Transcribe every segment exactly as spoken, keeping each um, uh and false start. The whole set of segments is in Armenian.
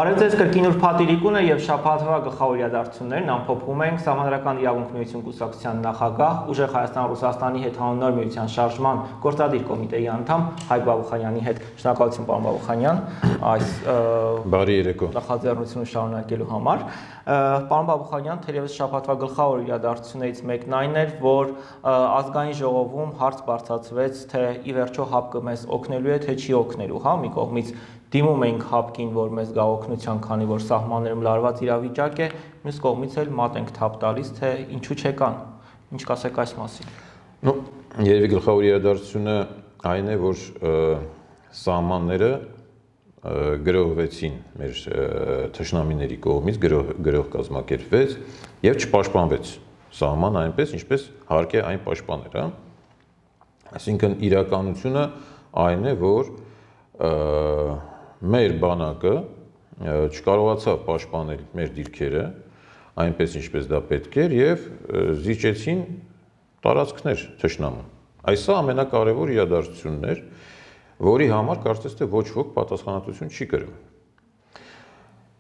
Բարև ձեզ կրկին ուրբաթ եւ շաբաթվա գլխավոր իրադարձություններն ամփոփում ենք Սահմանադրական իրավունք միություն կուսակցության նախագահ, Ուժեղ Հայաստան Ռուսաստանի հետ հանուն միության շարժման գործադիր կոմիտեի անդամ Հայկ Բաբուխանյանի հետ։ Շնորհակալություն պարոն Բաբուխանյան այս բարի երեկո նախաձեռնությունը շարունակելու համար։ Պարոն Բաբուխանյան, թերևս շաբաթվա գլխավոր իրադարձություններից մեկն այն էր, որ ազգային ժողովում հարց բարձրացվեց, թե ի վերջո ՀԱՊԿ մեզ օգնելու է, թե չի օգնելու, հա, մի կողմից դիմում ենք ՀԱՊԿ-ին, որ մեզ գա օգնության, քանի որ սահմաններում լարված իրավիճակ է, մյուս կողմից էլ մատ ենք թափ տալիս, թե ինչու չեկան։ Ինչ կասեք այս մասին։ Ну, երևի գլխավոր իրադարձությունը այն է, որ սահմանները գրողվեցին մեր թշնամիների կողմից, գրող գրող կազմակերպվեց եւ չպաշտպանվեց սահման այնպես, ինչպես հարկ է այն պաշտպաներ, հա։ Այսինքն իրականությունը այն է, որ մեր բանակը չկարողացավ պաշտպանել մեր դիրքերը այնպես ինչպես դա պետք էր եւ զիջեցին տարածքներ թշնամուն։ Այսա ամենակարևոր իրադարձությունն էր, որի համար կարծես թե ոչ ոք պատասխանատվություն չի կրում։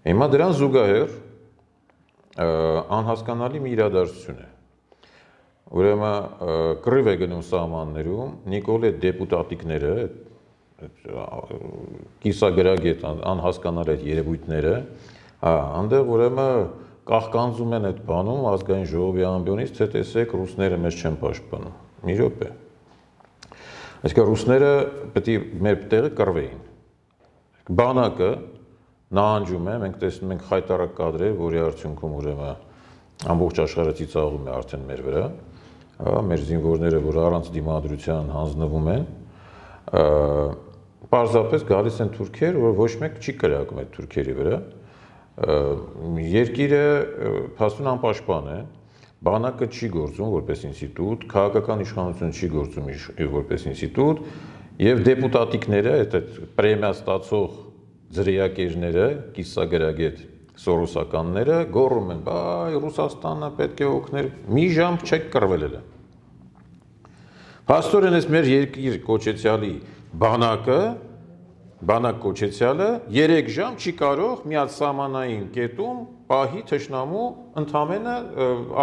Հիմա դրան զուգահեռ անհասկանալի մի իրադարձություն է։ Ուրեմն կռիվ է գնում սահմաններում, Նիկոլե դեպուտատիկները կիսագրագետ անհասկանալ այդ երևույթները, հա, այնտեղ ուրեմն կախկանձում են այդ բանում ազգային ժողովի ամբիոնից, թե տեսեք ռուսները մեզ չեն պաշտպանում։ Մի րոպե։ Այսինքն ռուսները պետք է մեր տեղը կռվեին։ Բանակը նահանջում է, մենք տեսնում ենք խայտարակ կադրեր, որի արդյունքում ուրեմն ամբողջ աշխարհը ծիծաղում է արդեն մեր վրա, հա, մեր զինվորները, որ առանց դիմադրության հանձնվում են, պարզապես գալիս են թուրքեր, որ ոչ մեկ չի կրակում այդ թուրքերի վրա, երկիրը փաստուն անպաշտպան է, բանակը չի գործում որպես ինստիտուտ, քաղաքական իշխանությունը չի գործում որպես ինստիտուտ, եւ դեպուտատիկները, այդ պրեմիա ստացող ձրիակերները, կիսագրագետ սորոսականները գոռում են, բայ Ռուսաստանը պետք է օգներ, մի ժամ չեք կռվել էլ։ Փաստորեն էս մեր երկիր կոչեցյալի բանակը, բանակ կոչեցյալը երեք ժամ չի կարող միացամանային կետում պահի թշնամու ընդամենը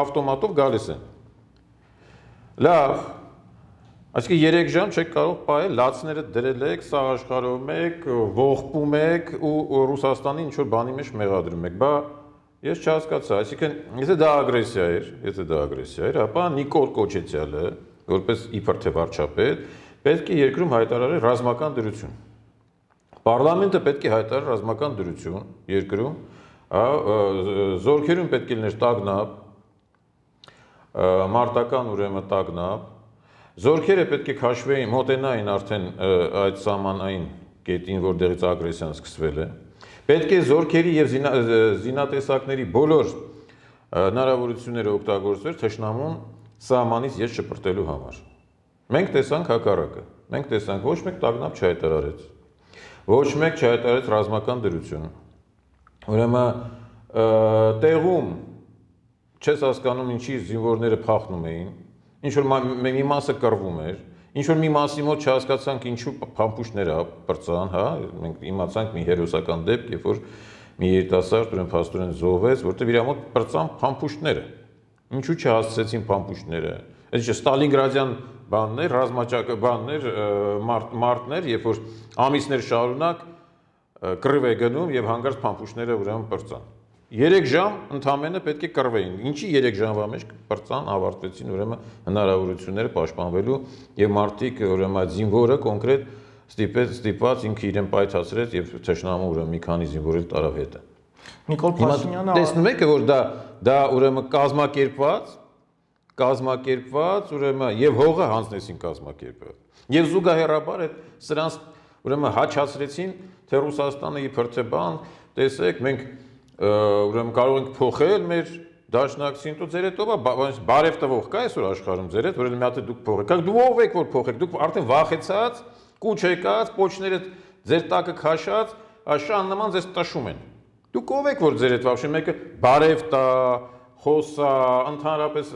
ավտոմատով գալիս են։ Լավ, այսինքն երեք ժամ չեք կարող պահել, լացները դրել եք, սաղ աշխարհում եք, ողբում եք ու Ռուսաստանի ինչ-որ բանի մեջ մեղադրում եք, բա ես չհասկացա, այսինքն եթե դա ագրեսիա էր, եթե դա ագրեսիա էր, ապա Նիկոլ Կոչեցյալը, որպես իբր թե վարչապետ, պետք է երկրում հայտարարել ռազմական դրություն։ Պարլամենտը պետք է հայտարարի ռազմական դրություն երկրում, զորքերում պետք է լիներ տագնապ, մարտական ուրեմն տագնապ, զորքերը պետք է քաշվեին, մոտենային արդեն այդ սահմանային կետին, որտեղից ագրեսիան սկսվել է։ Պետք է զորքերի եւ զինատեսակների բոլոր հնարավորությունները օգտագործվեր թշնամուն սահմանից ես շպրտելու համար։ Մենք տեսանք հակառակը, մենք տեսանք ոչ մեկ տագնապ չհայտարարեց, ոչ մեկ չհայտարարեց ռազմական դրություն։ Ուրեմն տեղում չես հասկանում ինչի զինվորները փախնում էին, ինչ որ մի մասը կռվում էր, ինչ որ մի մասի մոտ չհասկացանք ինչու փամփուշտները բրծան, հա, մենք իմացանք մի հերոսական դեպք, երբ որ մի երիտասարդ ուրեմն փաստորեն զոհվեց, որտեղ իր մոտ բրծան փամփուշտները։ Ինչու չհասցեցին փամփուշտները։ Այս չէ Ստալինգրադյան բաններ, ռազմաճակը բաններ, մարտներ, երբ որ ամիսներ շարունակ կռիվ է գնում եւ հանգարց փամփուշտները ուրեմն բրծան։ երեք ժամ ընդամենը պետք է կռվեին։ Ինչի երեք ժամվա մեջ բրծան, ավարտվեցին ուրեմն հնարավորությունները պաշտպանվելու եւ մարդիկ ուրեմն այդ զինվորը կոնկրետ ստիպեց, ստիպված ինքը իրեն պայթացրեց եւ թշնամու ուրեմն մի քանի զինվոր էլ տարավ հետը։ Նիկոլ Փաշինյանը տեսնում եք որ դա դա ուրեմն կազմակերպված, կազմակերպված ուրեմն եւ հողը հանձնեցին կազմակերպված։ Եվ զուգահեռաբար այդ սրանց ուրեմն հաչացրեցին, թե Ռուսաստանը իբր թե բան, տեսեք, մենք ուրեմն կարող ենք փոխել մեր դաշնակցին, դու ձեր հետ ով բարև տվող կա այսօր աշխարհում ձեր հետ, որ մի հատ դուք փոխեք։ Դուք ով եք որ փոխեք, դուք արդեն վախեցած, կուչ եկած, պոչները ձեր տակը քաշած, աշան նման ձեզ տաշում են։ Դուք ով եք որ ձեր հետ վախշում, մեկը բարև տա, խոսա, ընդհանրապես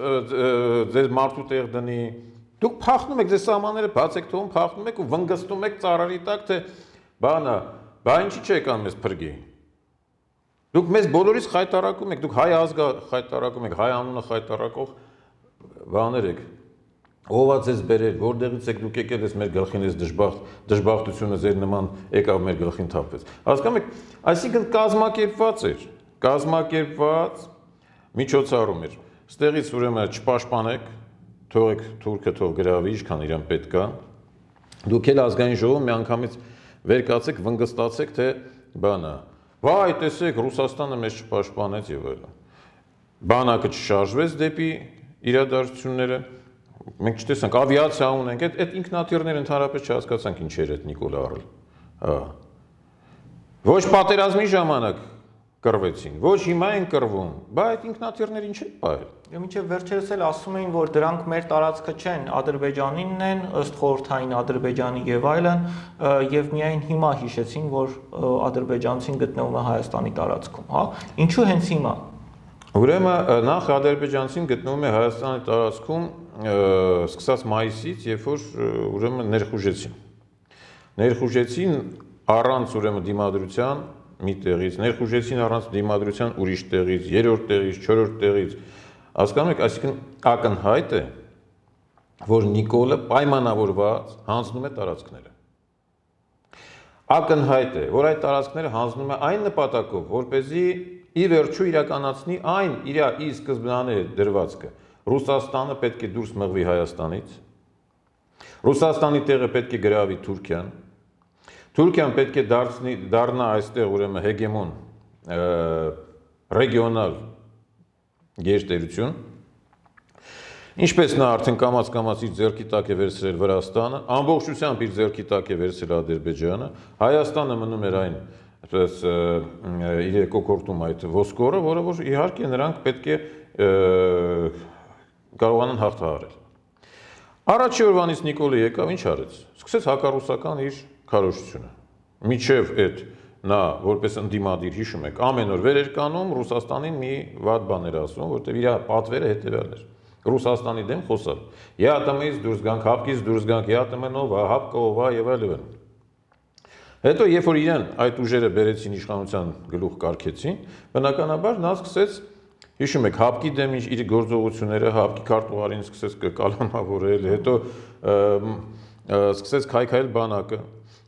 ձեր մարդու տեղ դնի։ Դուք փախնում եք, ձեր սահմանները բաց եք թողում, փախնում եք ու վնգստում եք ծառերի տակ, թե բանա, բա ինչի՞ չեկան մեզ փրկի։ Դուք մեզ բոլորից խայտարակում եք, դուք հայ ազգը խայտարակում եք, հայ անունը խայտարակող բաներ եք։ Ով է ձեզ բերել, որտեղից եք դուք եկել ես մեր գլխին ես դժբախտ, դժբախտությունը ձեր նման եկավ մեր գլխին թափվեց։ Հասկանում եք, այսինքն կազմակերպված էր, կազմակերպված միջոցառում էր։ Ստեղից ուրեմն չպաշտպանեք, թողեք թուրքը թող գրավի, ինչքան իրան պետք է։ Դուք էլ ազգային ժողովում մի անգամից վեր կացեք, վնգստացեք, թե բանա։ Վայ, տեսեք, Ռուսաստանը մեզ չպաշտպանեց եւ այլն։ Բանակը չշարժվեց դեպի իրադարձությունները։ Մենք չտեսանք, ավիացիա ունենք, այդ այդ ինքնաթիռները ընդհանրապես չհասկացանք ինչ էր այդ Նիկոլը առել։ Հա։ Ոչ պատերազմի ժամանակ կռվեցին, ոչ հիմա են կռվում, բա այդ ինքնաթիռները ինչ են ողել։ Մինչև վերջերս էլ ասում էին, որ դրանք մեր տարածքը չեն, Ադրբեջանինն են, ըստ խորհրդային Ադրբեջանի եւ այլն, եւ միայն հիմա հիշեցին, որ ադրբեջանցին գտնվում է Հայաստանի տարածքում, հա։ Ինչու հենց հիմա։ Ուրեմն նախ ադրբեջանցին գտնվում է Հայաստանի տարածքում սկսած մայիսից, երբ որ ուրեմն ներխուժեցին։ Ներխուժեցին առանց ուրեմն դիմադրության մի տեղից, ներխուժեցին առանց դիմադրության ուրիշ տեղից, երրորդ տեղից, չորրորդ տեղից։ Հասկանում եք, այսինքն ակնհայտ է, որ Նիկոլը պայմանավորված հանձնում է տարածքները։ Ակնհայտ է, որ այդ տարածքները հանձնում է այն նպատակով, որպեսզի ի վերջո իրականացնի այն իր ի սկզբնանե դրվածքը։ Ռուսաստանը պետք է դուրս մղվի Հայաստանից։ Ռուսաստանի տեղը պետք է գրավի Թուրքիան։ Թուրքիան պետք է դարձնի դառնա այստեղ ուրեմն հեգեմոն ռեգիոնալ գերտերություն։ Ինչպես նա արդեն կամաց-կամաց իր ձեռքի տակ է վերցրել Վրաստանը, ամբողջությամբ իր ձեռքի տակ է վերցրել Ադրբեջանը, Հայաստանը մնում էր այն այսպես իր կոկորտում այդ ոսկորը, որը որ իհարկե նրանք պետք է կարողանան հաղթահարել։ Առաջի օրվանից Նիկոլը եկավ, ինչ արեց։ Սկսեց հակառուսական իր քարոզությունը։ Միջև այդ նա որպես ընդդիմադիր հիշում եք, ամեն օր վեր էր կանում Ռուսաստանին մի վատ բան էր ասում, որտեղ իր պատվերը հետևյալն էր։ Ռուսաստանի դեմ խոսալ։ ԵԱՏՄ-ից դուրս գանք, հապկից դուրս գանք, ԵԱՏՄ-նով, հապկը ով է եւ այլն։ Հետո երբ որ իրեն այդ ուժերը բերեցին իշխանության գլուխ կարգեցին, բնականաբար նա սկսեց, հիշում եք, հապկի դեմ իր գործողությունները, հապկի քարտուղարին սկսեց կալանավորել, հետո սկսեց քայքայել բանակը,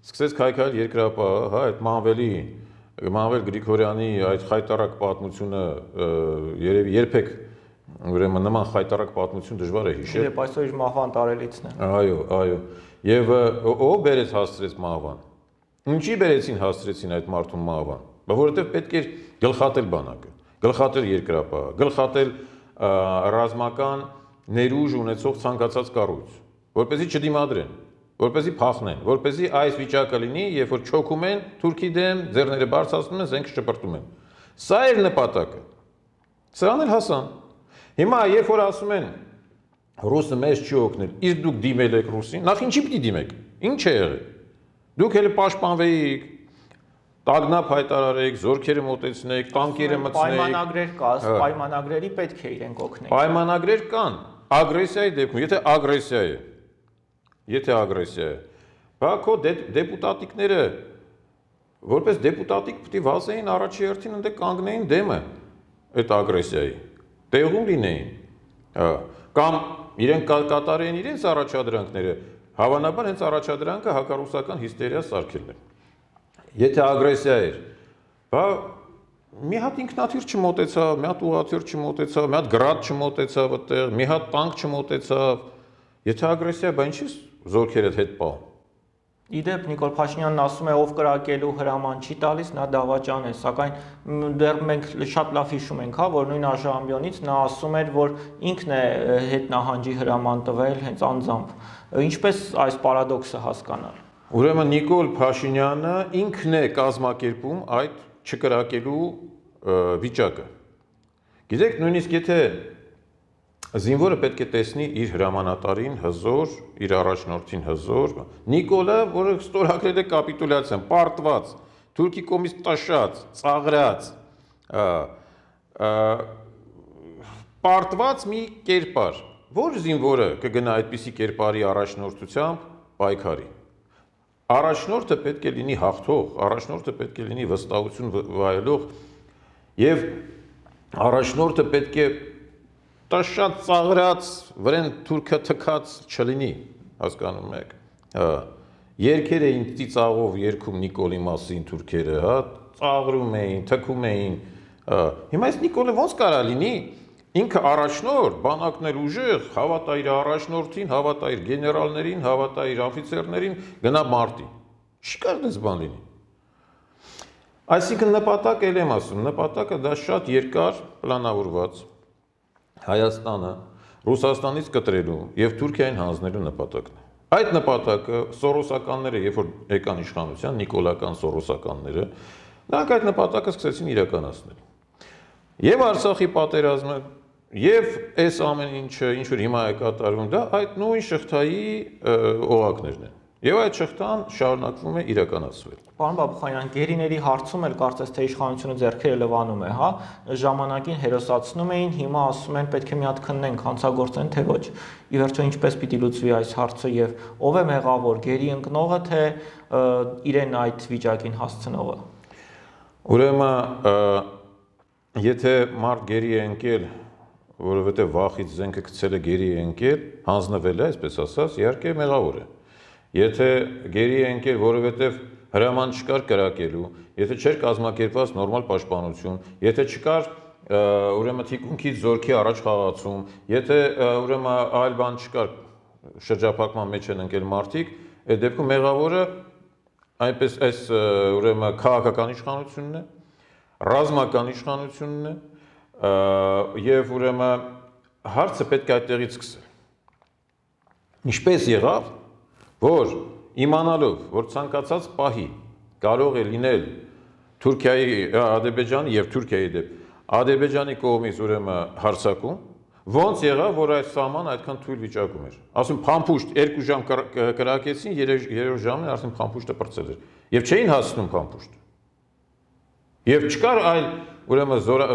սկսեց քայքայել երկրապահը, հա, այդ Մանվելի, Մանվել Գրիգորյանի այդ խայտարակ պատմությունը երևի երբեք ուրեմն նման խայտարակ պատմություն դժվար է հիշել։ Իդեպ այսօր իր մահվան տարելիցն է։ Այո, այո։ Եվ ով բերեց հասցրեց մահվան։ Ինչի բերեցին հասցրեցին այդ մարդուն մահվան։ Որովհետև պետք էր գլխատել բանակը, գլխատել երկրապահը, գլխատել ռազմական ներուժ ունեցող ցանկացած կառույց, որպեսզի չդիմադրեն, որպեսզի փախնեն, որպեսզի այս վիճակը լինի, երբ որ չոքում են Թուրքի դեմ, ձեռները բարձրացնում են, զենք շպրտում են։ Սա էր նպատակը։ Սրան էլ հասան։ Հիմա երբ որ ասում են ռուսը մեզ չի օգնել, իսկ դուք դիմել եք ռուսին, նախ ինչի պիտի դիմեք։ Ինչ է եղել։ Դուք էլ պաշտպանվեիք, տագնապ հայտարարեք, զորքերը մոտեցնեք, տանկերը մտցնեք։ Պայմանագրեր կա, պայմանագրերի պետք է իրենք օգնեն։ Պայմանագրեր կան, ագրեսիայի դեպքում, եթե ագրեսիա է, եթե ագրեսիա է, բա քո դեպուտատիկները որպես դեպուտատիկ պիտի վազեին առաջի հերթին ընդ կանգնեին դեմը այդ ագրեսիայի, տեղում լինեին, կամ իրենք կատարեին իրենց առաջադրանքները, հավանաբար հենց առաջադրանքը հակառուսական հիստերիա սարքելն է։ Եթե ագրեսիա էր, բա մի հատ ինքնաթիռ չմոտեցավ, մի հատ ուղղաթիռ չմոտեցավ, մի հատ գրադ չմոտեցավ այդտեղ, մի հատ տանկ չմոտեցավ։ Եթե ագրեսիա, բա ինչի՞ զորքերդ հետ պահում։ Իդեպ Նիկոլ Փաշինյանն ասում է, ով կրակելու հրաման չի տալիս, նա դավաճան է, սակայն դեռ մենք շատ լավ հիշում ենք, հա, որ նույն Աժամյոնից նա ասում էր, որ ինքն է հետ նահանջի հրաման տվել հենց անձամբ։ Ինչպես այս պարադոքսը հասկանալ։ Ուրեմն Նիկոլ Փաշինյանը ինքն է կազմակերպում այդ չկրակելու վիճակը։ Գիտեք, նույնիսկ եթե զինվորը պետք է տեսնի իր հրամանատարին հզոր, իր առաջնորդին հզոր, Նիկոլը, որը ստորագրել է կապիտուլյացիան, պարտված, Թուրքի կողմից տաշած, ծաղրած, պարտված մի կերպար, որ զինվորը կգնա այդպիսի կերպարի առաջնորդությամբ պայքարի։ Առաջնորդը պետք է լինի հաղթող, առաջնորդը պետք է լինի վստահություն վայելող Եվ առաջնորդը պետք է շատ ծաղրած, վրեն թուրքը թքած չլինի, հասկանում եք։ Երգեր էին ծիծաղով երգում Նիկոլի մասին թուրքերը, հա, ծաղրում էին, թքում էին։ Հիմա այս Նիկոլը ոնց կարա լինի, ինքը առաջնորդ, բանակն էլ ուժեղ, հավատա իր առաջնորդին, հավատա իր գեներալներին, հավատա իր օֆիցերներին, գնա մարտի։ Չի կարող դες բան լինի։ Այսինքն նպատակը էլ եմ ասում, նպատակը դա շատ երկար պլանավորված Հայաստանը Ռուսաստանից կտրելու եւ Թուրքիային հանձնելու նպատակն է։ Այդ նպատակը սորոսականները, երբ որ եկան իշխանության, նիկոլական սորոսականները, նրանք այդ նպատակը սկսեցին իրականացնել։ Եվ Արցախի պատերազմը, եւ այս ամեն ինչը, ինչ որ հիմա է կատարվում, դա այդ նույն շղթայի օղակներն են։ Եվ այդ շղթան շարունակվում է իրականացվել։ Պարոն Բաբուխանյան, գերիների հարցում էլ կարծես թե իշխանությունը ձեռքերը լվանում է, հա, ժամանակին հերոսացնում էին, հիմա ասում են պետք է մի հատ քննենք, հանցագործեն, թե ոչ։ Ի վերջո ինչպես պիտի լուծվի այս հարցը եւ ով է մեղավոր, գերի ընկնողը, թե իրեն այդ վիճակին հասցնողը։ Ուրեմն, եթե մարդ գերի է ընկել, որովհետեւ վախից զենքը գցել է գերի է ընկել, հանձնվել է, այսպես ասած, իհարկե մեղավոր է։ Եթե գերի է ընկել, որովհետև հրաման չկար կրակելու, եթե չէր կազմակերպված նորմալ պաշտպանություն, եթե չկար ուրեմն թիկունքից զորքի առաջ խաղացում, եթե ուրեմն այլ բան չկար շրջափակման մեջ են ընկել մարդիկ, այդ դեպքում մեղավորը այնպես այս ուրեմն քաղաքական իշխանությունն է, ռազմական իշխանությունն է, եւ ուրեմն հարցը պետք է այդտեղից սկսել։ Ինչպես եղավ, որ իմանալով, որ ցանկացած պահի կարող է լինել Թուրքիայի, Ադրբեջանի եւ Թուրքիայի դեպ Ադրբեջանի կողմից ուրեմն հարձակում, ոնց եղավ, որ այս սահմանը այդքան թույլ վիճակում էր։ Ասում փամփուշտ երկու ժամ կրակեցին, երրորդ ժամին արդեն փամփուշտը պրծել էր։ Եվ չէին հասնում փամփուշտը։ Եվ չկար այլ ուրեմն զորա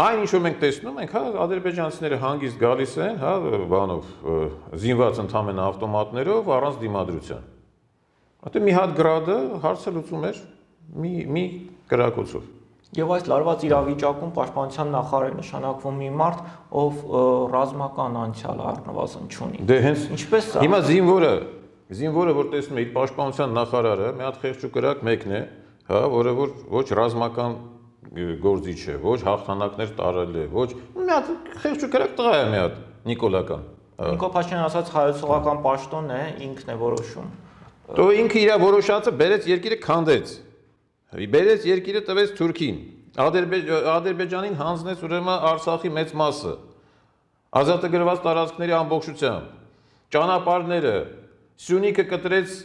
Այն ինչ որ մենք տեսնում ենք, հա, ադրբեջանցիները հանգիստ գալիս են, հա, բանով զինված ընդամենը ավտոմատներով առանց դիմադրության։ Այդտեղ մի հատ գրադը հարցը լուծում էր մի մի կրակոցով։ Եվ այս լարված իրավիճակում պաշտպանության նախարար նշանակվում մի մարդ, ով ռազմական անցյալ առնվազն չունի։ Դե հենց ինչպես է։ Հիմա զինվորը, զինվորը որ տեսնում է իր պաշտպանության նախարարը, մի հատ խեղճ ու կրակ մեկն է, հա, որը որ ոչ ռազմական գործիչ է, ոչ հաղթանակներ տարել է, ոչ մի հատ խեղճ ու կրակ տղա է մի հատ նիկոլական։ Նիկոլ Փաշինյանը ասաց հայեցողական պաշտոն է, ինքն է որոշում։ Դու ինքը իր որոշածը բերեց երկիրը քանդեց։ Բերեց երկիրը տվեց Թուրքին։ Ադրբեջանին հանձնեց ուրեմն Արցախի մեծ մասը։ Ազատագրված տարածքների ամբողջությամբ։ Ճանապարհները, Սյունիքը կտրեց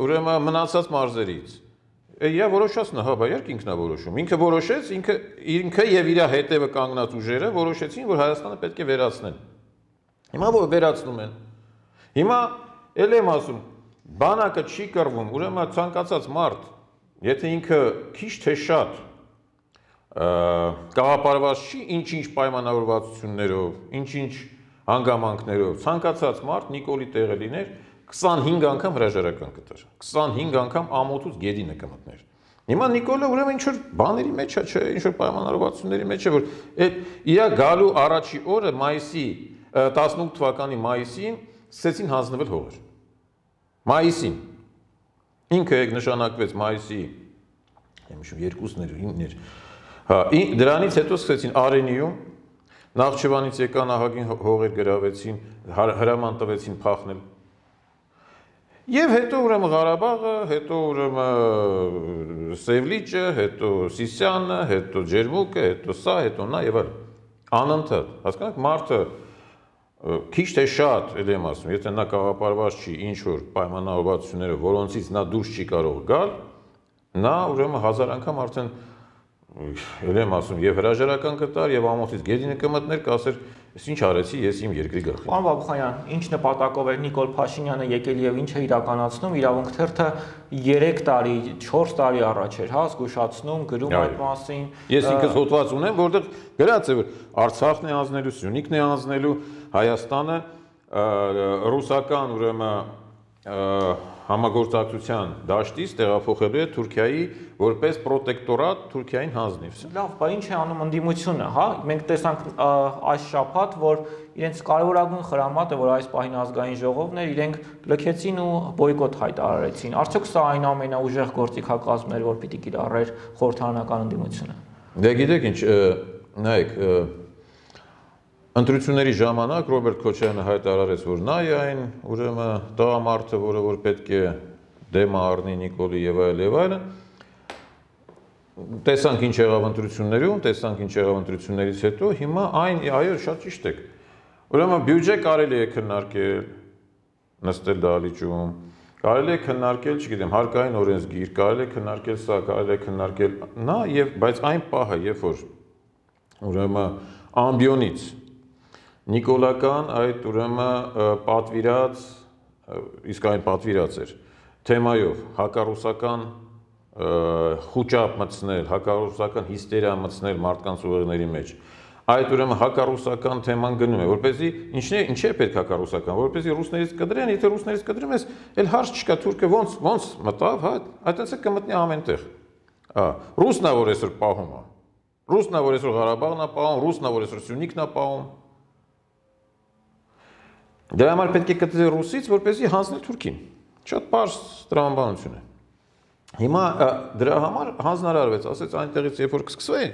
ուրեմն մնացած մարզերից։ Իրա որոշածն է, հա, բայ ինքն է որոշում։ Ինքը որոշեց, ինքը ինքը եւ իր հետևը կանգնած ուժերը որոշեցին, որ Հայաստանը պետք է վերացնեն։ Հիմա որ վերացնում են։ Հիմա ել եմ ասում, բանակը չի կռվում, ուրեմն ցանկացած մարդ, եթե ինքը քիչ թե շատ կաղապարված չի ինչ-ինչ պայմանավորվածություններով, ինչ-ինչ հանգամանքներով, ցանկացած մարդ Նիկոլի տեղը լիներ քսանհինգ անգամ հրաժարական կտար, քսանհինգ անգամ ամոթուց գետինը կմտներ։ Հիմա Նիկոլը ուրեմն ինչ որ բաների մեջ է, չէ, ինչ որ պայմանավորվածությունների մեջ է, որ այդ իր գալու առաջի օրը մայիսի տասնութ թվականի մայիսին սկսեցին հանձնվել հողեր։ Մայիսին ինքը նշանակվեց մայիսի, եմ հիշում երկուսն էր, ինքն էր։ Հա, դրանից հետո սկսեցին Արենիում, Նախճիվանից եկան ահագին հողեր գրավեցին, հրաման տվեցին փախնել։ Եվ հետո ուրեմն Ղարաբաղը, հետո ուրեմն Սևլիճը, հետո Սիսյանը, հետո Ջերմուկը, հետո սա, հետո նա եւ այլն։ Անընդհատ, հասկանաք, մարդը քիչ թե շատ, ել եմ ասում, եթե նա կաղապարված չի ինչ որ պայմանավորվածությունները, որոնցից նա դուրս չի կարող գալ, նա ուրեմն հազար անգամ արդեն ել եմ ասում, եւ հրաժարական կտար, եւ ամոթից գետինը կմտներ, կասեր, ես ինչ արեցի, ես իմ երկրի գլխի։ Պարոն Բաբուխանյան, ինչ նպատակով էր Նիկոլ Փաշինյանը եկել եւ ինչ է իրականացնում, իրավունք թերթը երեք տարի, չորս տարի առաջ էր, հա, զգուշացնում, գրում այդ մասին։ Ես ինքս հոդված ունեմ, որտեղ գրած է, որ Արցախն է անձնելու, Սյունիքն է անձնելու, Հայաստանը ռուսական ուրեմն համագործակցության դաշտից տեղափոխելու է Թուրքիայի որպես պրոտեկտորատ Թուրքիային հանձնիվ։ Լավ, բայց ինչ է անում ընդդիմությունը, հա? Մենք տեսանք այս շաբաթ, որ իրենց կարևորագույն խրամատը, որ այս պահին ազգային ժողովն էր, իրենք լքեցին ու բոյկոտ հայտարարեցին։ Արդյոք սա այն ամենաուժեղ գործիքակազմն էր, որ պիտի կիրառեր խորհրդարանական ընդդիմությունը։ Դե գիտեք ինչ, նայեք, ընտրությունների ժամանակ Ռոբերտ Քոչարյանը հայտարարեց, որ նա է այն, ուրեմն տղամարդը, որը որ պետք է դեմը առնի Նիկոլի եւ այլ եւ այլն։ Տեսանք ինչ եղավ ընտրություններում, տեսանք ինչ եղավ ընտրություններից հետո, հիմա այն, այո, շատ ճիշտ եք։ Ուրեմն բյուջե կարելի է քննարկել, նստել դահլիճում, կարելի է քննարկել, չգիտեմ, հարկային օրենսգիր, կարելի է քննարկել սա, կարելի է քննարկել նա եւ բայց այն պահը, երբ որ ուրեմն ամբիոնից Նիկոլական այդ ուրեմն պատվիրած, իսկ այն պատվիրած էր, թեմայով հակառուսական խուճապ մտցնել, հակառուսական հիստերիա մտցնել մարդկանց ուղեղների մեջ։ Այդ ուրեմն հակառուսական թեման գնում է, որպեսզի ինչն է, ինչ է պետք հակառուսական, որպեսզի ռուսներից կդրեն, եթե ռուսներից կդրում ես, էլ հարց չկա, թուրքը ոնց ոնց մտավ, հա, այդտեղից է կմտնի ամենտեղ։ Հա, ռուսնա որ այսօր պահում է։ Ռուսնա որ այսօր Ղարաբաղն է պահում, ռուսնա որ այսօր Սյունիքն է պահում։ Դրա համար պետք է գտնի ռուսից, որպեսզի հանձնել Թուրքին։ Շատ պարզ տրամաբանություն է։ Հիմա դրա համար հանձնարարվեց, ասեց այնտեղից երբ որ կսկսվի,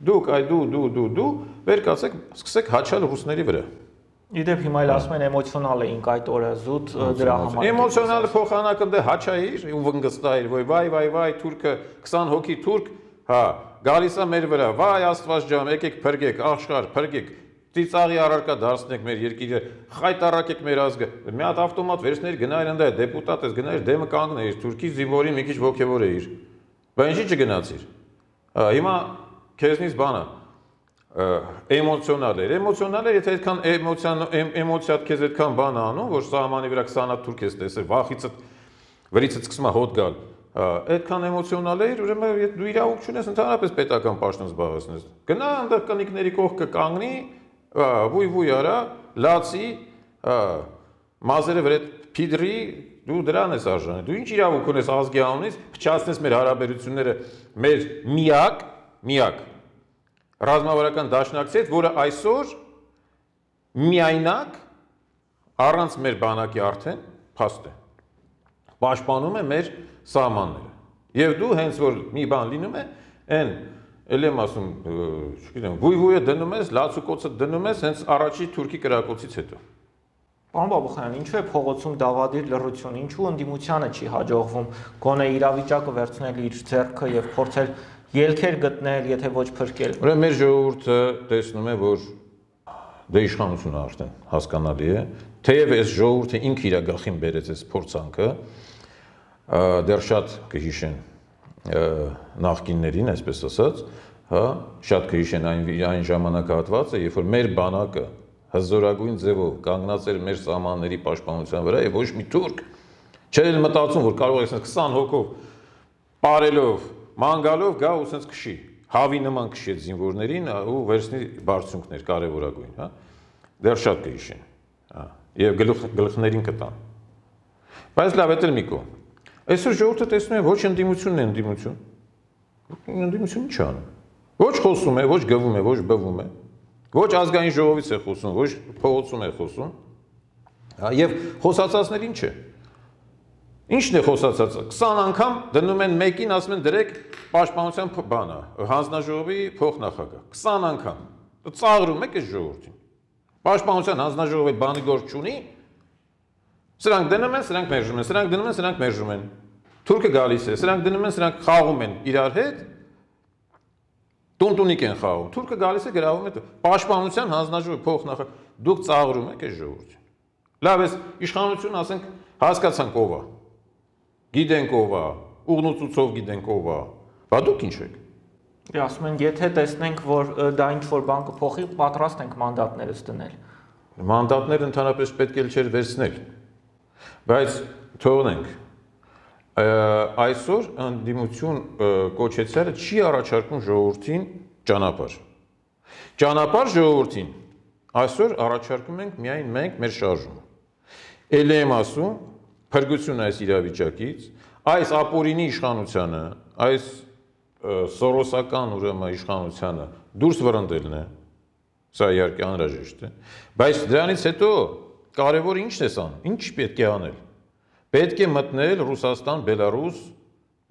դուք այ դու դու դու դու վեր կացեք, սկսեք հաչալ ռուսների վրա։ Իդեպ հիմա էլ ասում են էմոցիոնալ էինք այդ օրը զուտ դրա համար։ Էմոցիոնալ փոխանակը դե հաչայիր ու վնգստայիր, ոյ վայ վայ վայ թուրքը քսան հոգի թուրք, հա, գալիս է մեր վրա, վայ Աստված ջան, եկեք փրկեք, աշխարհ, փրկեք, ծիծաղի առարկա դարձնեք մեր երկիրը, խայտարակեք մեր ազգը։ Մի հատ ավտոմատ վերցներ գնայր ընդա դեպուտատ ես գնայր դեմը կանգնեիր, թուրքի զինվորի մի քիչ ոգևոր էիր։ Բայց ինչի չգնացիր։ Հիմա քեզնից բանը էմոցիոնալ էր, էմոցիոնալ էր, եթե այդքան էմոցիադ քեզ այդքան բան անում, որ սահմանի վրա քսան հատ թուրք ես տեսել, վախից վրիցդ սկսում է հոտ գալ, այդքան էմոցիոնալ էր, ուրեմն դու իրավունք չունես ընդհանրապես պետական պաշտոն զբաղեցնես։ Գնա այնտեղ կնիկների կողքը կանգնի, վույ-վույ արա, լացի, մազերը վրա փիդրի, դու դրան ես արժանի։ Դու ինչ իրավունք ունես ազգի անունից փչացնես մեր հարաբերությունները մեր միակ, միակ ռազմավարական դաշնակցի հետ, որը այսօր միայնակ առանց մեր բանակի արդեն փաստ է։ Պաշտպանում է մեր սահմանները։ Եվ դու հենց որ մի բան լինում է, այն էլ եմ ասում, չգիտեմ, վույ-վույը դնում ես, լացուկոցը դնում ես հենց առաջի թուրքի կրակոցից հետո։ Պարոն Բաբուխյան, ինչու է փողոցում դավադիր լռություն, ինչու ընդդիմությանը չի հաջողվում գոնե իրավիճակը վերցնել իր ձեռքը եւ փորձել ելքեր գտնել, եթե ոչ փրկել։ Ուրեմն մեր ժողովուրդը տեսնում է, որ դե իշխանությունը արդեն հասկանալի է, թեև այս ժողովուրդը ինքը իր գլխին բերեց այս փորձանքը, դեռ շատ կհիշեն նախկիններին, այսպես ասած, հա, շատ կհիշեն այն այն ժամանակահատվածը, երբ որ մեր բանակը հզորագույն ձևով կանգնած էր մեր սահմանների պաշտպանության վրա եւ ոչ մի թուրք չէր մտածում, որ կարող է ասես քսան հոգով ապարելով, ման գալով գա ու ասես քշի, հավի նման քշի այդ զինվորներին ու վերցնի բարձունքներ կարևորագույն, հա, դեռ շատ կհիշեն, հա, եւ գլուխ գլխներին կտան։ Բայց լավ է դեռ մի կողմ։ Այսօր ժողովուրդը տեսնում է ոչ ընդդիմությունն է ընդդիմություն։ Ընդդիմություն ինչ անում։ Ոչ խոսում է, ոչ գվում է, ոչ բվում է։ Ոչ ազգային ժողովից է խոսում, ոչ փողոցում է խոսում։ Եվ խոսացածներ ինչ է։ Ինչն է խոսացածը։ քսան անգամ դնում են մեկին, ասում են դրեք պաշտպանության բանը, հանձնաժողովի փոխնախագահ։ քսան անգամ։ Ծաղրում եք այս ժողովրդին։ Պաշտպանության հանձնաժողովի բանի գործ չունի։ Սրանք դնում են, սրանք մերժում են, սրանք դնում են, սրանք մերժում են։ Թուրքը գալիս է, սրանք դնում են, սրանք խաղում են իրար հետ։ Տունտունիկ են խաղում։ Թուրքը գալիս է գրավում է պաշտպանության հանձնաժողովի փոխնախագահ։ Դուք ծաղրում եք այս ժողովրդին։ Լավ է, իշխանություն ասենք հասկացանք ով է։ Գիտենք ով է, ուղնուցուցով գիտենք ով է։ Բա դուք ինչ եք։ Դե ասում են, եթե տեսնենք, որ դա ինչ-որ բան կփոխի, պատրաստ ենք մանդատներս դնել։ Մանդատները ընդհանրապես պետք է չէր վերցնել։ Բայց թողնենք, այսօր ընդդիմություն կոչեցյալը չի առաջարկում ժողովրդին ճանապարհ։ Ճանապարհ ժողովրդին այսօր առաջարկում ենք միայն մենք մեր շարժումը։ Էլ եմ ասում, փրկությունը այս իրավիճակից, այս ապօրինի իշխանությանը, այս սորոսական ուրեմն իշխանությանը դուրս վռնդելն է, սա իհարկե անհրաժեշտ է, բայց դրանից հետո կարևորը ինչն է անում, ինչ պետք է անել։ Պետք է մտնել Ռուսաստան-Բելարուս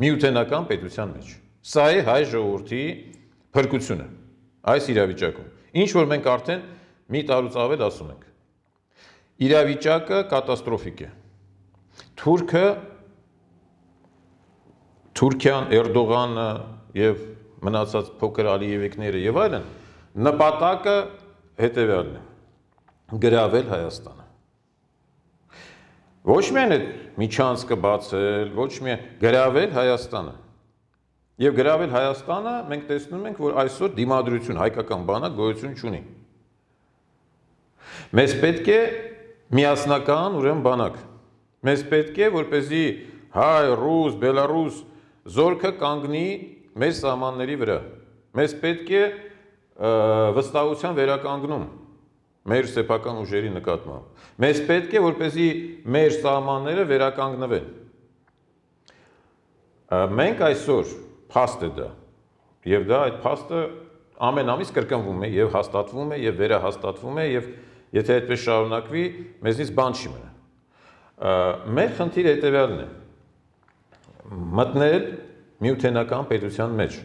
միութենական պետության մեջ։ Սա է հայ ժողովրդի փրկությունը այս իրավիճակում։ Ինչ որ մենք արդեն մի տարուց ավել ասում ենք։ Իրավիճակը կատաստրոֆիկ է։ Թուրքը, Թուրքիան, Էրդողանը եւ մնացած փոքր Ալիևիկները եւ այլն նպատակը հետեւյալն է՝ գրավել Հայաստանը։ Ոչ միայն այդ միջանցքը բացել, ոչ միայն գրավել Հայաստանը։ Եվ գրավել Հայաստանը մենք տեսնում ենք, որ այսօր դիմադրություն հայկական բանակ գոյություն չունի։ Մեզ պետք է միասնական ուրեմն բանակ։ Մեզ պետք է, որպեսզի հայ, ռուս, բելարուս զորքը կանգնի մեր սահմանների վրա։ Մեզ պետք է վստահության վերականգնում մեր սեփական ուժերի նկատմամբ։ Մեզ պետք է, որպեսզի մեր սահմանները վերականգնվեն։ Մենք այսօր փաստ է դա, եւ դա այդ փաստը ամեն ամիս կրկնվում է եւ հաստատվում է եւ վերահաստատվում է եւ եթե այդպես շարունակվի, մեզնից բան չի մնա։ Մեր խնդիրը հետեւյալն է՝ մտնել միութենական պետության մեջ։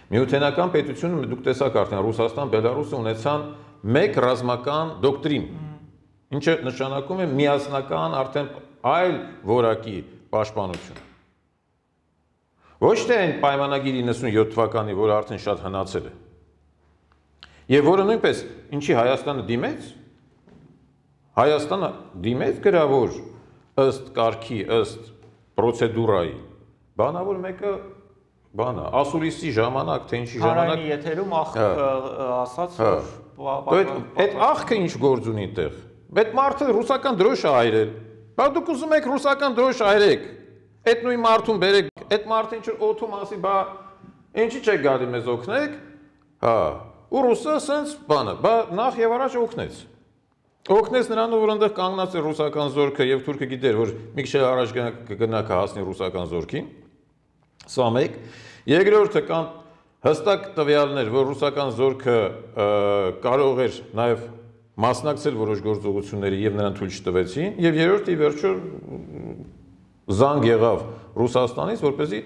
Միութենական պետությունը դուք տեսաք արդեն Ռուսաստան, Բելարուսը ունեցան մեկ ռազմական դոկտրին, ինչը նշանակում է միասնական արդեն այլ որակի պաշտպանություն։ Ոչ թե այն պայմանագիր իննսունյոթ թվականի, որը արդեն շատ հնացել է։ Եվ որը նույնպես ինչի Հայաստանը դիմեց, Հայաստանը դիմեց գրավոր ըստ կարգի, ըստ պրոցեդուրայի, բանավոր մեկը բանա, ասուլիսի ժամանակ, թե ինչի ժամանակ։ Հանրային եթերում ասաց, որ այդ աղքը ինչ գործ ունի այդտեղ։ Այդ մարդը ռուսական դրոշ է այրել։ Բա դուք ուզում եք ռուսական դրոշ այրեք։ Այդ նույն մարդուն բերեք, այդ մարդը ինչ որ օթում ասի, բա ինչի՞ չեք գալի մեզ օգնեք։ Հա, ու ռուսը ասենց բանը, բա նախ եւ առաջ օգնեց։ Օգնեց նրանով, որ այնտեղ կանգնած է ռուսական զորքը եւ թուրքը գիտեր, որ մի քիչ առաջ կգնա կհասնի ռուսական զորքին։ Սա մեկ։ Երկրորդը կան հստակ տվյալներ, որ ռուսական զորքը կարող էր նաեւ մասնակցել որոշ գործողությունների եւ նրան թույլ չտվեցին, եւ երրորդը ի վերջո զանգ եղավ Ռուսաստանից, որպեսզի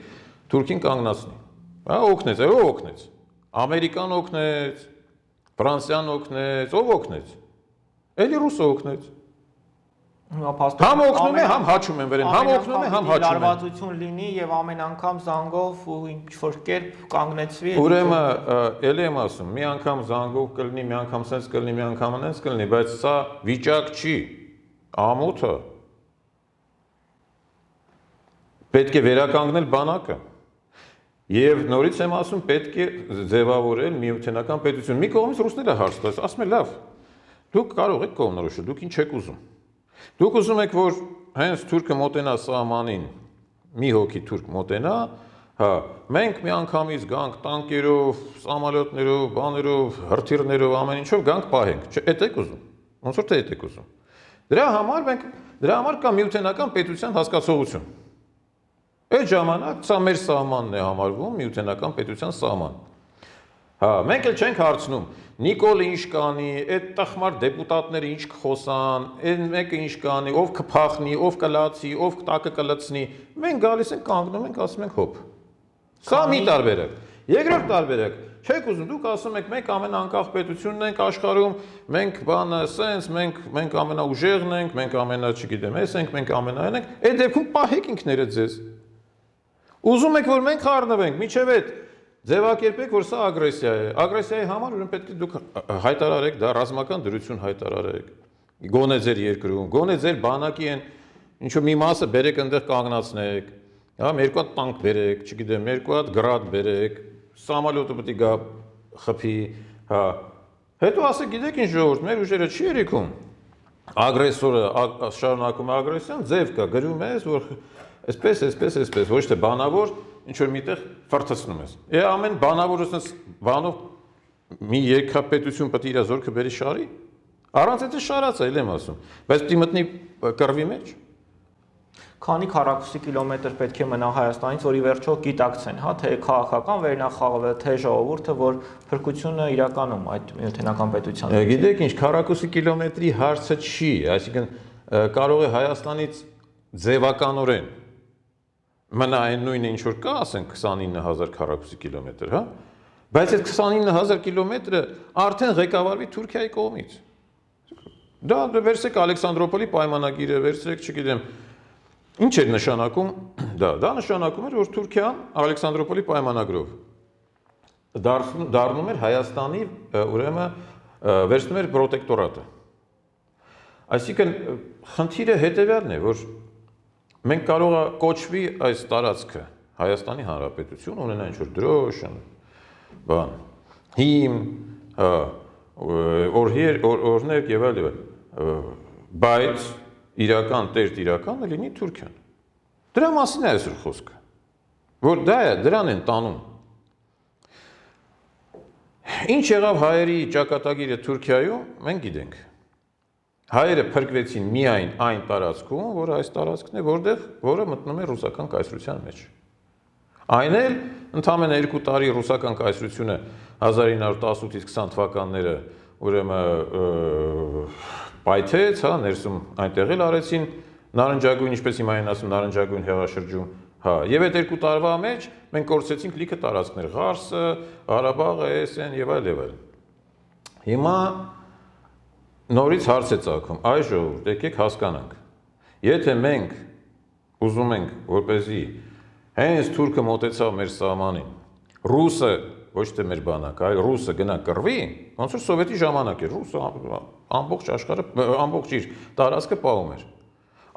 Թուրքին կանգնացնի։ Հա, օգնեց, այո, օգնեց։ Ամերիկան օգնեց, Ֆրանսիան օգնեց, ով օգնեց։ Էլի ռուսը օգնեց։ Համ օգնում է, համ հաչում են վերեն, համ օգնում է, համ հաչում են։ Լարվածություն լինի եւ ամեն անգամ զանգով ու ինչ-որ կերպ կանգնեցվի։ Ուրեմն, էլի եմ ասում, մի անգամ զանգով կլինի, մի անգամ սենց կլինի, մի անգամ այնպես կլինի, բայց սա վիճակ չի։ Ամոթը պետք է վերականգնել բանակը։ Եվ նորից եմ ասում, պետք է ձևավորել միութենական պետություն։ Մի կողմից ռուսները հարց տալիս, ասում են լավ, դուք կարող եք կողմնորոշել, դուք ինչ եք ուզում։ Դուք ուզում եք, որ հենց թուրքը մոտենա սահմանին, մի հոգի թուրք մոտենա, հա, մենք մի անգամից գանք տանկերով, սամալյոտներով, բաներով, հրթիռներով, ամեն ինչով գանք պահենք։ Չէ, էդ եք ուզում։ Ոնց որ թե էդ եք ուզում։ Դրա համար մենք դրա համար կա միութենական պետության հասկացողություն։ Այդ ժամանակ սա մեր սահմանն է համարվում, միութենական պետության սահման։ Հա, մենք էլ չենք հարցնում, Նիկոլը ինչ կանի, այդ տխմար դեպուտատները ինչ կխոսան, այն մեկը ինչ կանի, ով կփախնի, ով կլացի, ով տակը կլցնի։ Մենք գալիս ենք կանգնում ենք, ասում ենք հոп։ Սա մի տարբերակ։ Երկրորդ տարբերակ, չեք ուզում, դուք ասում եք մենք ամենաանկախ պետությունն ենք աշխարհում, մենք բանը սենց, մենք մենք ամենաուժեղն ենք, մենք ամենա, չգիտեմ, էս ենք, մենք ամենայն ենք, այդ դեպքում պահեք ինքներդ ձեզ։ Ուզում եք, որ մենք խառնվենք, միջև այդ ձևակերպեք, որ սա ագրեսիա է։ Ագրեսիայի համար ուրեմն պետք է դուք հայտարարեք, դա ռազմական դրություն հայտարարեք։ Գոնե ձեր երկրում, գոնե ձեր բանակի են ինչ որ մի մասը բերեք այնտեղ կանգնացնեք։ Հա, երկու հատ տանկ բերեք, չգիտեմ, երկու հատ գրադ բերեք, սամալյոտը պետք է գա խփի, հա։ Հետո ասեք, գիտեք ինչ ժողովուրդ, մեր ուժերը չի երիքում։ Ագրեսորը շարունակում է ագրեսիան, ձև կա, գրում ես, որ այսպես, այսպես, այսպես, ոչ թե բանավոր ինչ որ միտեղ ֆրթացնում ես։ Է ամեն բանավորը ասես բանով մի երկրապետություն պետք է իր զորքը բերի շարի։ Առանց այդ շարած է, ել եմ ասում։ Բայց պետք է մտնի կռվի մեջ։ քանի քառակուսի կիլոմետր պետք է մնա Հայաստանից, որ ի վերջո գիտակցեն, հա, թե քաղաքական վերնախավը, թե ժողովուրդը, որ փրկությունը իրականում այդ միութենական պետության։ Գիտեք ինչ, քառակուսի կիլոմետրի հարցը չի, այսինքն կարող է Հայաստանից ձևականորեն մնա այն նույնը ինչ որ կա, ասենք քսանինը հազար քառակուսի կիլոմետր, հա, բայց այդ քսանինը հազար կիլոմետրը արդեն ղեկավարվի Թուրքիայի կողմից։ Դա վերցրեք Ալեքսանդրոպոլի պայմանագիրը, վերցրեք, չգիտեմ, ինչ էր նշանակում, դա, դա նշանակում էր, որ Թուրքիան Ալեքսանդրոպոլի պայմանագրով դառնում էր Հայաստանի, ուրեմն վերցնում էր պրոտեկտորատը։ Այսինքն խնդիրը հետևյալն է, որ մենք կարող է կոչվի այս տարածքը Հայաստանի Հանրապետություն, ունենա ինչ-որ դրոշն, բան, հիմ, օրհներ եւ այլն, բայց իրական տերտ իրականը լինի Թուրքիան։ Դրա մասին է այսօր խոսքը, որ դա է, դրան են տանում։ Ինչ եղավ հայերի ճակատագիրը Թուրքիայում, մենք գիտենք։ Հայերը փրկվեցին միայն այն տարածքում, որ այս տարածքն է, որտեղ որը մտնում է ռուսական կայսրության մեջ։ Այն էլ ընդամենը երկու տարի ռուսական կայսրությունը հազար ինը հարյուր տասնութից քսան թվականները ուրեմն պայթեց, հա, ներսում այնտեղ էլ արեցին նարնջագույն, ինչպես հիմա են ասում, նարնջագույն հեղաշրջում, հա, եւ այդ երկու տարվա մեջ մենք կորցրեցինք լիքը տարածքներ, Ղարսը, Ղարաբաղը, Էսեն եւ այլ եւ այլ։ Հիմա նորից հարց է ծագում, այ ժողովուրդ, եկեք հասկանանք։ Եթե մենք ուզում ենք, որպեսզի հենց թուրքը մոտեցավ մեր սահմանին, ռուսը, ոչ թե մեր բանակը, այլ ռուսը գնա կռվի, ոնց որ սովետի ժամանակ էր, ռուսը ամբողջ աշխարհը, ամբողջ իր տարածքը պահում էր։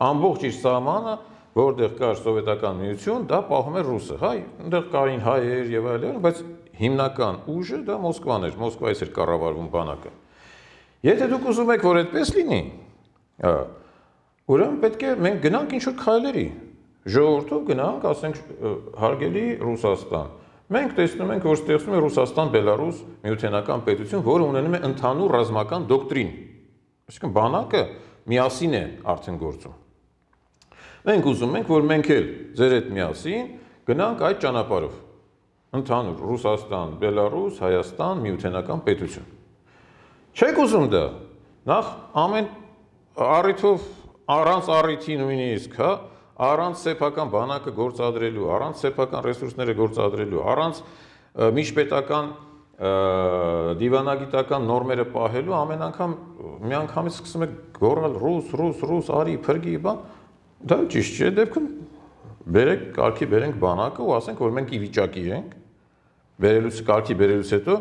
Ամբողջ իր սահմանը, որտեղ կար սովետական միություն, դա պահում էր ռուսը, հա, այնտեղ կային հայեր եւ այլն, բայց հիմնական ուժը դա Մոսկվան էր, Մոսկվայից էր կառավարվում բանակը։ Եթե դուք ուզում եք, որ այդպես լինի, ուրեմն պետք է մենք գնանք ինչ-որ քայլերի, ժողովուրդով գնանք, ասենք, հարգելի Ռուսաստան։ Մենք տեսնում ենք, որ ստեղծվում է Ռուսաստան-Բելարուս միութենական պետություն, որը ունենում է ընդհանուր ռազմական դոկտրին։ Այսինքն բանակը միասին է արդեն գործում։ Մենք ուզում ենք, որ մենք էլ ձեր հետ միասին գնանք այդ ճանապարհով։ Ընդհանուր Ռուսաստան, Բելարուս, Հայաստան միութենական պետություն։ Չեք ուզում դա։ Նախ ամեն առիթով առանց առիթի նույնիսկ, հա, առանց սեփական բանակը գործադրելու, առանց սեփական ռեսուրսները գործադրելու, առանց միջպետական դիվանագիտական նորմերը պահելու, ամեն անգամ մի անգամից սկսում եք գոռալ ռուս, ռուս, ռուս, արի, փրկի, բան, դա ճիշտ չէ, դեպքում բերեք, կարգի բերենք բանակը ու ասենք, որ մենք ի վիճակի ենք, բերելուց կարգի բերելուց հետո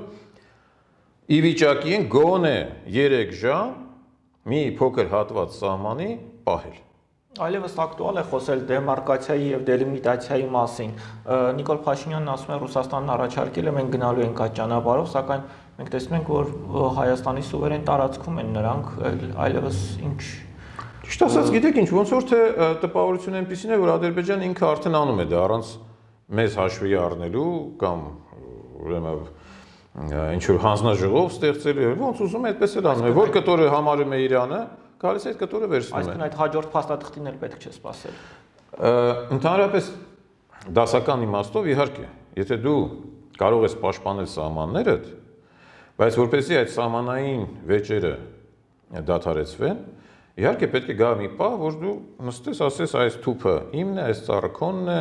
ի վիճակի ենք գոնե երեք ժամ մի փոքր հատված սահմանի պահել։ Այլևս ակտուալ է խոսել դեմարկացիայի եւ դելիմիտացիայի մասին։ Նիկոլ Փաշինյանն ասում է Ռուսաստանն առաջարկել է մենք գնալու ենք այդ ճանապարհով, սակայն մենք տեսնում ենք, որ Հայաստանի սուվերեն տարածքում են նրանք, այլևս ինչ։ Ճիշտ ասած, գիտեք ինչ, ոնց որ թե տպավորությունը այնպեսին է, որ Ադրբեջանը ինքը արդեն անում է դա առանց մեզ հաշվի առնելու կամ ուրեմն ինչ որ հանձնաժողով ստեղծելու, ոնց ուզում է այդպես էլ անում է, որ կտորը համարում է Իրանը, գալիս այդ կտորը վերցնում է։ Այսինքն այդ հաջորդ փաստաթղթին էլ պետք չէ սպասել։ Ընդհանրապես դասական իմաստով իհարկե, եթե դու կարող ես պաշտպանել սահմաններդ, բայց որպեսզի այդ սահմանային վեճերը դադարեցվեն, իհարկե պետք է գա մի պահ, որ դու նստես, ասես այս թուփը իմն է, այս ծառը քոնն է,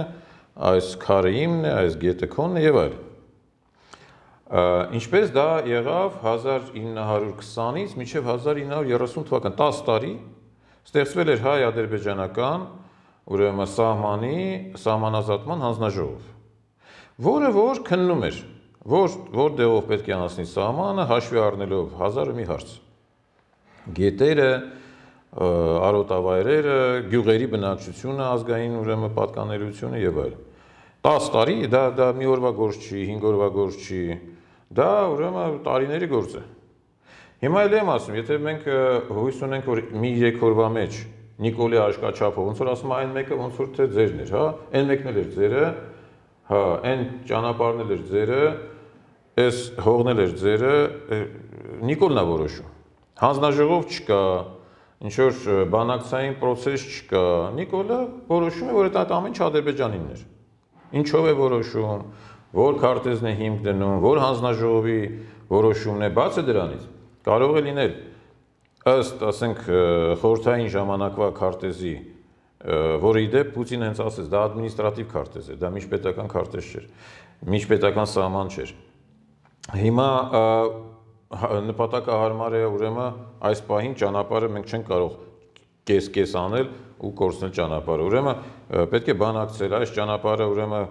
այս քարը իմն է, այս գետը քոնն է եւ այլն։ Ինչպես դա եղավ հազար ինը հարյուր քսանից մինչև հազար ինը հարյուր երեսուն թվական, տասը տարի ստեղծվել էր հայ-ադրբեջանական ուրեմն սահմանի սահմանազատման հանձնաժողով, որը որ քննում էր, որ որտեղով պետք է անցնի սահմանը, հաշվի առնելով հազար ու մի հարց։ Գետերը, արոտավայրերը, գյուղերի բնակչությունը, ազգային ուրեմն պատկանելիությունը եւ այլն։ տասը տարի դա դա մի օրվա գործ չի, հինգ օրվա գործ չի, դա ուրեմն տարիների գործ է։ Հիմա էլ եմ ասում, եթե մենք հույս ունենք, որ մի երեք օրվա մեջ Նիկոլի աշկաչափով, ոնց որ ասում այն մեկը ոնց որ թե ձերն էր, հա, այն մեկն էլ էր ձերը, հա, այն ճանապարհն էլ էր ձերը, այս հողն էլ էր ձերը, Նիկոլն է որոշում։ Հանձնաժողով չկա, ինչ որ բանակցային process չկա, Նիկոլը որոշում է, որ այդ ամեն ինչ Ադրբեջանինն էր։ Ինչով է որոշում, որ քարտեզն է հիմք դնում, որ հանձնաժողովի որոշումն է, բացը դրանից կարող է լինել ըստ, ասենք, խորհրդային ժամանակվա քարտեզի, որը իդեպ Պուտինը հենց ասեց, դա ադմինիստրատիվ քարտեզ է, դա միջպետական քարտեզ չէր, միջպետական սահման չէր։ Հիմա նպատակահարմար է ուրեմն այս պահին ճանապարհը մենք չենք կարող կես-կես անել ու կորցնել ճանապարհը։ Ուրեմն պետք է բանակցել այս ճանապարհը, ուրեմն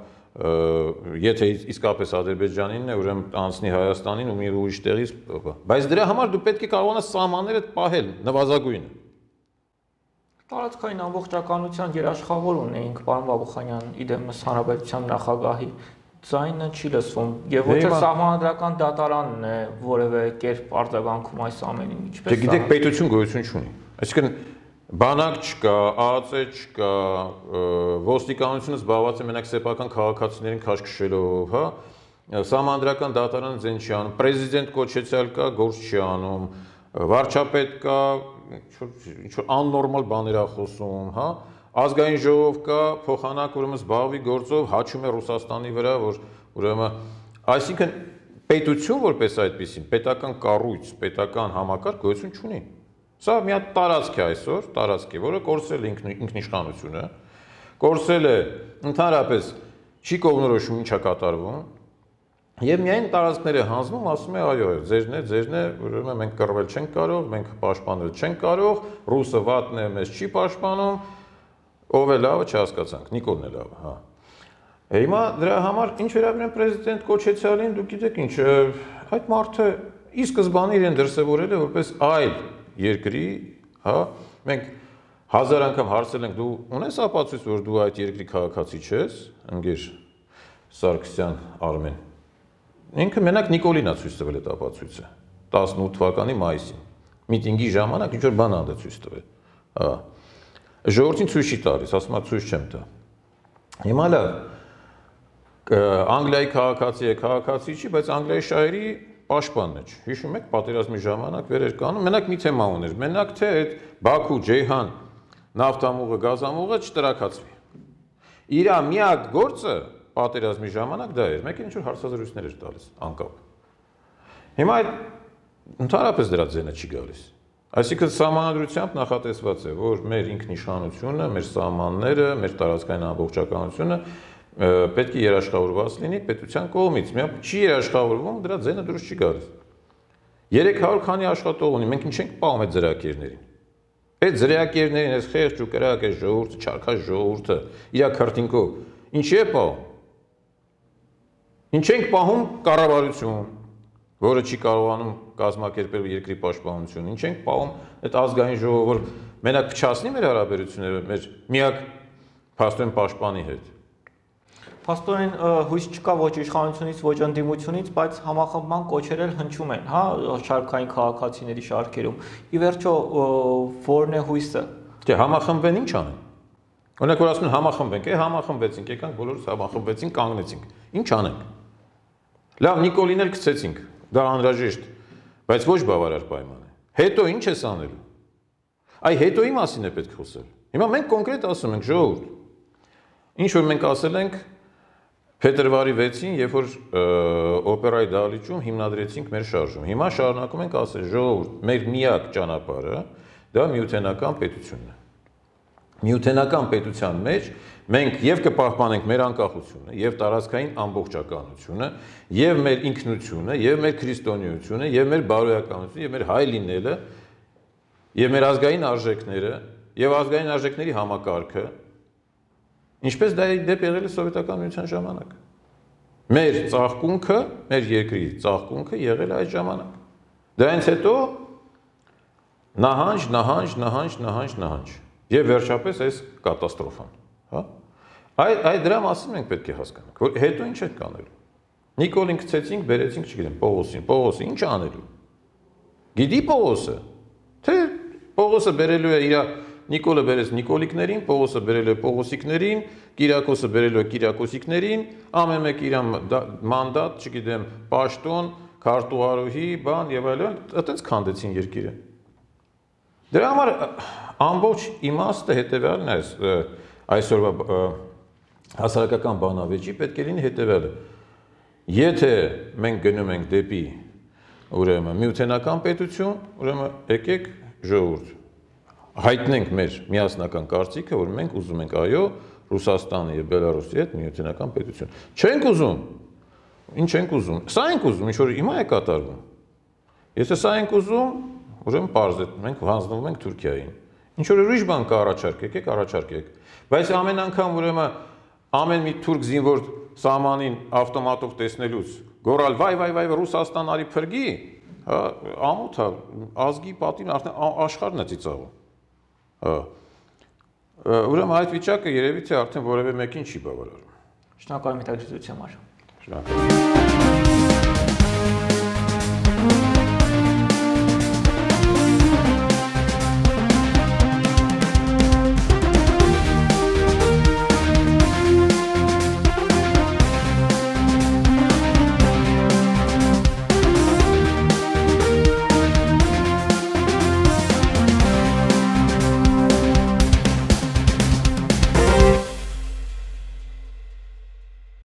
եթե իսկապես Ադրբեջանինն է, ուրեմն անցնի Հայաստանին ու մի ուրիշ տեղից, բայց դրա համար դու պետք է կարողանաս սահմանները պահել նվազագույնը։ Տարածքային ամբողջականության երաշխավոր ունեինք, պարոն Բաբուխանյան, իդեմս հանրապետության նախագահի ձայնը չի լսվում, եւ ոչ թե սահմանադրական դատարանն է որևէ կերպ արձագանքում այս ամենին, ինչպես։ Դե գիտեք, պետություն գոյություն չունի։ Այսինքն բանակ չկա, ԱԱԾ չկա, ոստիկանությունը զբաղված է մենակ սեփական քաղաքացիներին քաշքշելով, հա, սահմանադրական դատարանը ձեն չի անում, պրեզիդենտ կոչեցյալ կա, գործ չի անում, վարչապետ կա, ինչ որ աննորմալ բաներ է խոսում, հա, ազգային ժողով կա, փոխանակ ուրեմն զբաղվի գործով հաչում է Ռուսաստանի վրա, որ ուրեմն, այսինքն պետություն որպես այդպեսին, պետական կառույց, պետական համակարգ գոյություն չունի։ Սա մի հատ տարածք է այսօր, տարածք է, որը կորցրել է ինքնիշխանությունը, կորցրել է ընդհանրապես չի կողմնորոշում ինչա կատարվում, եւ միայն տարածքները հանձնում, ասում է այո, ձերն է, ձերն է, ուրեմն մենք կռվել չենք կարող, մենք պաշտպանել չենք կարող, ռուսը վատն է, մեզ չի պաշտպանում, ով է լավը չհասկացանք, Նիկոլն է լավը, հա։ Հիմա դրա համար ինչ վերաբերում պրեզիդենտ կոչեցյալին, դուք գիտեք ինչ, այդ մարդը ի սկզբանե իրեն դրսևորել է որպես այլ երկրի, հա, մենք հազար անգամ հարցել ենք, դու ունես ապացույց, որ դու այդ երկրի քաղաքացի չես, ընկեր Սարգսյան Արմեն։ Ինքը մենակ Նիկոլին է ցույց տվել այդ ապացույցը տասնութ թվականի մայիսին։ Միտինգի ժամանակ ինչ որ բան անդը ցույց տվել։ Հա։ Ժողովրդին ցույց չի տալիս, ասում է ցույց չեմ տա։ Հիմա լավ Անգլիայի քաղաքացի է, քաղաքացի չի, բայց Անգլիայի շահերի պաշտպանն է։ Հիշում եք, պատերազմի ժամանակ վեր էր կանում, մենակ մի թեմա ուներ, մենակ թե այդ Բաքու, Ջեյհան, նավթամուղը, գազամուղը չտրակացվի։ Իր միակ գործը պատերազմի ժամանակ դա էր, մեկը ինչ որ հարցազրույցներ էր տալիս, անկապ։ Հիմա այդ ընդհանրապես դրա ձենը չի գալիս։ Այսինքն սահմանադրությամբ նախատեսված է, որ մեր ինքնիշխանությունը, մեր սահմանները, մեր տարածքային ամբողջականությունը պետք է երաշխավորված լինի պետության կողմից։ Միայն չի երաշխավորվում, դրա ձենը դուրս չի գալիս։ երեք հարյուր քանի աշխատող ունի, մենք ինչ ենք պահում այդ ձրակերներին։ Այդ ձրակերներին, այս խեղճ ու կրակ, այս ժողովուրդը, չարքաշ ժողովուրդը, իր քրտինքով, ինչի է պահում։ Ինչ ենք պահում կառավարություն, որը չի կարողանում կազմակերպել երկրի պաշտպանությունը։ Ինչ ենք պահում այդ ազգային ժողովը, որ մենակ փչացնի մեր հարաբերությունները մեր միակ փաստորեն պաշտպանի հետ։ Փաստորեն հույս չկա ոչ իշխանությունից, ոչ ընդդիմությունից, բայց համախմբման կոչեր էլ հնչում են, հա, շարքային քաղաքացիների շարքերում։ Ի վերջո որն է հույսը։ Չէ, համախմբեն ինչ անեն։ Օրինակ որ ասում են համախմբենք, է համախմբեցինք, եկանք բոլորս համախմբեցինք, կանգնեցինք։ Ինչ անենք։ Լավ, Նիկոլին էլ գցեցինք, դա անհրաժեշտ, բայց ոչ բավարար պայման է։ Հետո ինչ ես անելու։ Այ հետոյի մասին է պետք խոսել։ Հիմա մենք կոնկրետ ասում ենք ժողովուրդ։ Ինչ որ մենք ասել ենք փետրվարի վեցին, երբ որ օպերայի դահլիճում հիմնադրեցինք մեր շարժումը։ Հիմա շարունակում ենք ասել ժողովուրդ, մեր միակ ճանապարհը դա միութենական պետությունն է։ Միութենական պետության մեջ մենք եւ կպահպանենք մեր անկախությունը, եւ տարածքային ամբողջականությունը, եւ մեր ինքնությունը, եւ մեր քրիստոնեությունը, եւ մեր բարոյականությունը, եւ մեր հայ լինելը, եւ մեր ազգային արժեքները, եւ ազգային արժեքների համակարգը, ինչպես դա դեպ եղել է սովետական միության ժամանակ։ Մեր ծաղկունքը, մեր երկրի ծաղկունքը եղել է այդ ժամանակ։ Դրանից հետո նահանջ, նահանջ, նահանջ, նահանջ, նահանջ։ Եվ վերջապես այս կատաստրոֆան, հա։ Այդ այդ դրա մասին մենք պետք է հասկանանք, որ հետո ինչ ենք անելու։ Նիկոլին գցեցինք, բերեցինք, չգիտեմ, Պողոսին, Պողոսը ինչ անելու։ Գիտի Պողոսը, թե Պողոսը բերելու է իր Նիկոլը բերեց Նիկոլիկներին, Պողոսը բերել է Պողոսիկներին, Կիրակոսը բերել է Կիրակոսիկներին, ամեն մեկ իր մանդատ, չգիտեմ, պաշտոն, քարտուղարուհի, բան եւ այլն, այդպես քանդեցին երկիրը։ Դրա համար ամբողջ իմաստը հետևյալն է, այսօրվա հասարակական բանավեճի պետք է լինի հետևյալը։ Եթե մենք գնում ենք դեպի ուրեմն միութենական պետություն, ուրեմն եկեք ժողովուրդ հայտնենք մեր միասնական կարծիքը, որ մենք ուզում ենք այո Ռուսաստանի եւ Բելարուսի հետ միութենական պետություն։ Չենք ուզում։ Ինչ ենք ուզում։ Սա ենք ուզում, ինչ որ հիմա է կատարվում։ Եթե սա ենք ուզում, ուրեմն պարզ է, մենք հանձնվում ենք Թուրքիային։ Ինչ որ ուրիշ բան կառաջարկեք, եք առաջարկեք։ Բայց ամեն անգամ ուրեմն ամեն մի թուրք զինվոր սահմանին ավտոմատով տեսնելուց գոռալ վայ վայ վայ Ռուսաստան արի փրկի, հա, ամոթ է, ազգի պատին արդեն աշխարհն է ծիծաղում։ Հա։ Ուրեմն այդ վիճակը երևի թե արդեն որևէ մեկին չի բավարարում։ Շնորհակալ եմ հետաքրքրության համար։ Շնորհակալ եմ։